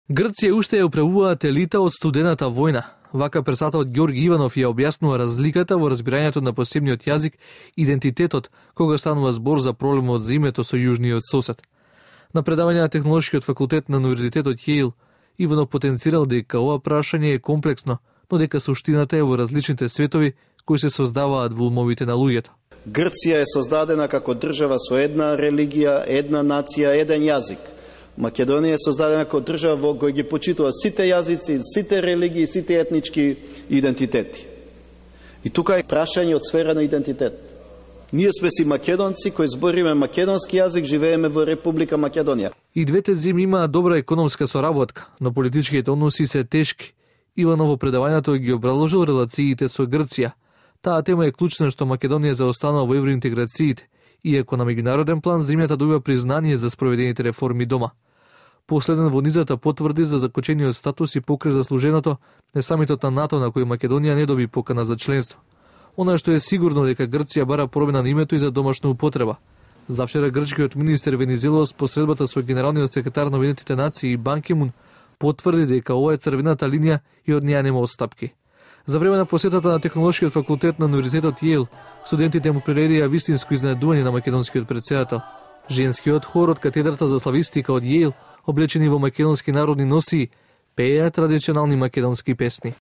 Грција уште ја управуваат елита од студената војна. Вака пресатаот Ѓорги Иванов ја објаснува разликата во разбирањето на посебниот јазик, идентитетот, кога станува збор за проблемот за името со јужниот сосед. На предавање на Технолошкиот факултет на Универзитетот Јейл, Иванов потенцирал дека ова прашање е комплексно, но дека суштината е во различните светови кои се создаваат во умовите на луѓето. Грција е создадена како држава со една религија, една нација, еден јазик. Македонија е создадена како држава во која ги почитува сите јазици, сите религии, сите етнички идентитети. И тука е прашање од сфера на идентитет. Ние сме си македонци кои збориме македонски јазик, живееме во Република Македонија. И двете земји имаат добра економска соработка, но политичките односи се тешки. Иванов во предавањето ги обраложил релациите со Грција. Таа тема е клучна што Македонија заостанува во евроинтеграциите, иако на меѓународен план земјата добива признание за спроведените реформи дома. Последен во низата потврди за закочениот статус и покрај заслуженото не самитот на НАТО на кој Македонија не доби покана за членство. Она што е сигурно дека Грција бара промена на името и за домашна употреба. Завчера грчкиот министер Венизелос посредбата со генералниот секретар на Обединетите нации и Бан Ки Мун потврди дека ова е црвената линија и од неја нема отстапки. За време на посетата на Технолошкиот факултет на Универзитетот Јейл, студентите му пререрија вистинско изненадување на македонскиот претседател. Женскиот хор од катедрата за славистика од Јейл, облечени во македонски народни носии, пееа традиционални македонски песни.